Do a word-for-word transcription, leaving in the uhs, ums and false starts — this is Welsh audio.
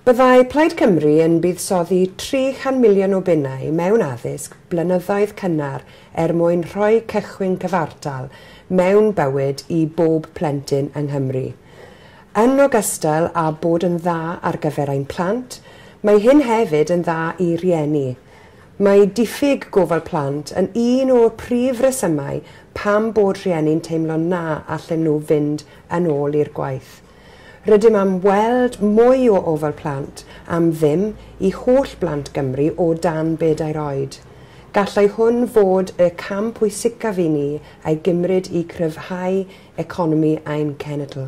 Byddai Plaid Cymru yn buddsoddi tri chan miliwn o bunnau mewn addysg blynyddoedd cynnar er mwyn rhoi cychwyn cyfartal mewn bywyd i bob plentyn yng Nghymru. Yn ogystal â bod yn dda ar gyfer ein plant, mae hyn hefyd yn dda i rieni. Mae diffyg gofal plant yn un o'r prif resymau pam bod rhieni'n teimlo na allan nhw fynd yn ôl i'r gwaith. Rydym am weld mwy o ofal plant am ddim i holl blant Gymru o dan bedair oed. Gallai hwn fod y cam pwysicaf i ni ei gymryd i cryfhau economi ein cenedl.